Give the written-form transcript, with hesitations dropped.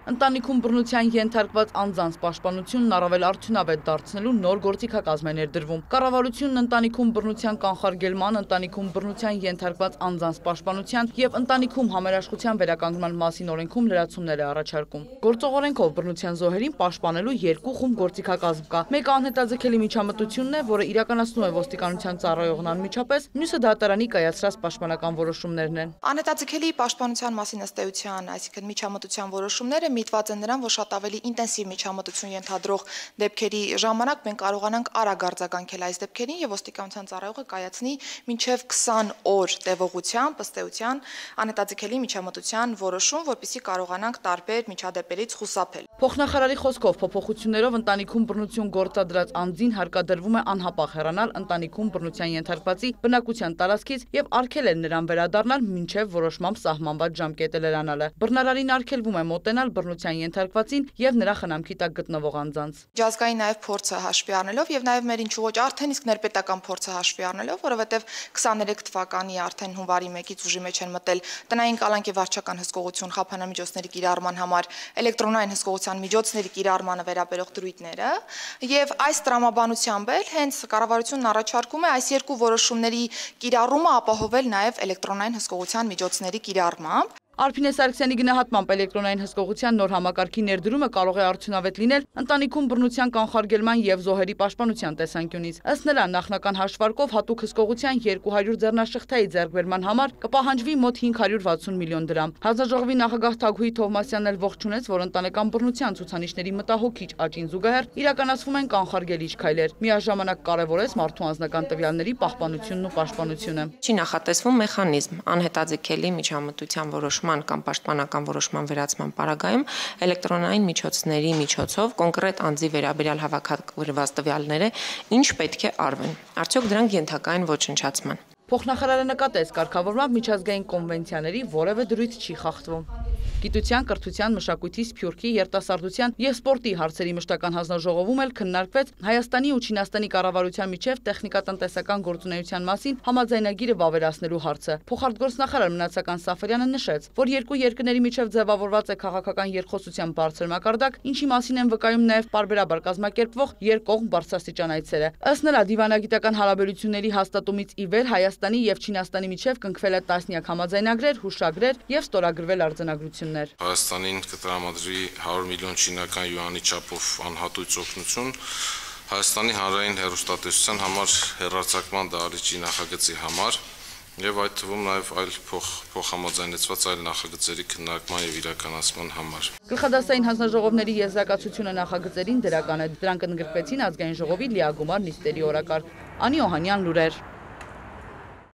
Ընտանիքում բռնության ենթարկված անձանց պաշտպանությունն առավել արդյունավետ դարձնելու նոր գործիքակազմ է ներդրվում։ Կառավարությունն ընտանիքում բռնության կանխարգելման, ընտանիքում բռնության ենթարկված անձանց պաշտպանության եւ ընտանիքում համերաշխության վերականգնման մասին օրենքում լրացումներ է առաջարկում։ Գործող օրենքով բռնության զոհերին պաշտպանելու երկու խումբ գործիքակազմ կա։ Մեկը անհետաձգելի միջամտությունն է, որը իրականացնում է ոստիկանության ծառայողն անմիջապես, մյուսը դատարանի կայացրած պաշտպանական որոշումներն են։ Անհետաձգելի պաշտպանության մասին ըստ էության, այսինքն միջամտության որոշումները միտված են նրան, որ շատ ավելի ինտենսիվ միջամտություն ենթադրող դեպքերի ժամանակ մենք կարողանանք արագ արձագանքել այս դեպքերին եւ ոստիկանության ծառայողը կայացնի մինչեւ 20 օր տևողությամբ ըստ էության անհետաձգելի միջամտության որոշում, որպեսզի կարողանանք տարբեր միջադեպերից խուսափել։ Փոխնախարարի խոսքով փոփոխություններով ընտանիքում բռնություն գործադրած անձին հարկադրվում է անհապաղ հեռանալ ընտանիքում բռնության ենթարկվածի բնակության տարածքից եւ արգելել նրան վերադառնալ մինչեւ որոշմամբ սահմանված ժամկետը լրանալը։ Բռնարարին արգելվում է մոտենալ բռնության ենթարկվածին եւ նրա խնամքի տակ գտնվող անձանց։ Միջազգային նաեւ փորձը հաշվի առնելով եւ նաեւ մեր ինչու ոչ արդեն իսկ ներպետական փորձը հաշվի առնելով, որովհետեւ 23 թվականի արդեն հունվարի 1-ից ուժի մեջ են մտել տնային կալանք եւ վարչական հսկողություն խափանամիջոցների կիրառման համար էլեկտրոնային հսկողության միջոցների կիրառմանը վերաբերող դրույթները եւ այս տրամաբանությամբ էլ հենց կառավարությունն առաջարկում է այս երկու որոշումների կիրառումը ապահովել նաեւ էլեկտրոնային հսկողության միջոցների կիրառմամբ։ Արփինե Սարգսյանի գնահատմամբ էլեկտրոնային հսկողության նոր համակարգի ներդրումը կարող է արդյունավետ լինել ընտանիքում բռնության կանխարգելման եւ զոհերի պաշտպանության տեսանկյունից։ Ըստ նրա, նախնական հաշվարկով հատուկ հսկողության 200 ձեռնաշղթայի ձեռքբերման համար կպահանջվի մոտ 560 միլիոն դրամ։ Հանձնաժողովի նախագահ Թագուհի Թովմասյանն էլ ողջունեց, որ ընտանեկան բռնության ցուցանիշների մտահոգիչ աճին զուգահեռ իրականացվում են կանխարգելիչ քայլեր։ Միաժամանակ կարևորեց մարդու անձնական տվյալների պահպանությունն ու պաշտպանությունը։ Չի նախատեսվում մեխանիզմ անհետաձգելի միջամտության որոշման կամ պաշտպանական որոշման վերացման պարագայում էլեկտրոնային միջոցների միջոցով կոնկրետ անձի վերաբերյալ հավաքագրված տվյալները ինչ պետք է արվեն։ Արդյոք դրանք ենթակա են ոչնչացման։ Փոխնախարարը նկատեց, կարգավորմամբ միջազգային կոնվենցիաների որևէ դրույթ չի խախտվում։ Գիտության, կրթության, մշակույթի, սփյուռքի, երիտասարդության եւ սպորտի հարցերի մշտական հանձնաժողովում էլ քննարկվեց Հայաստանի ու Չինաստանի կառավարության միջև տեխնիկատնտեսական գործունեության մասին համաձայնագիրը վավերացնելու հարցը։ Փոխարտգործնախարար Մնացական Սաֆարյանը նշեց, որ երկու երկրների միջև ձևավորված է քաղաքական երկխոսության բարձր մակարդակ, ինչի մասին են վկայում նաեւ պարբերաբար կազմակերպվող երկկողմ բարձրաստիճան այցերը։ Ըստ նրա, դիվանագիտական հարաբերությունների հաստատումից ի վեր Հայաստանի եւ Չինաստանի միջև կնքվել է տասնյակ համաձայնագրեր, հուշագրեր եւ ստորագրվել արձանագրություններ։ Հայաստանին կտրամադրի 100 միլիոն չինական յուանի չափով անհատույց օգնություն Հայաստանի հանրային հեռուստատեսության համար հեռարձակման դահլիճի նախագծի համար եւ այդ թվում նաեւ այլ փոխհամաձայնեցված այլ նախագծերի քննարկման եւ իրականացման համար։ Գլխադասային հանձնաժողովների եզրակացությունը նախագծերին դրական է։ Դրանք ընդգրկվեցին ազգային ժողովի լիագումար նիստերի օրակարգ։ Անի Օհանյան, լուրեր։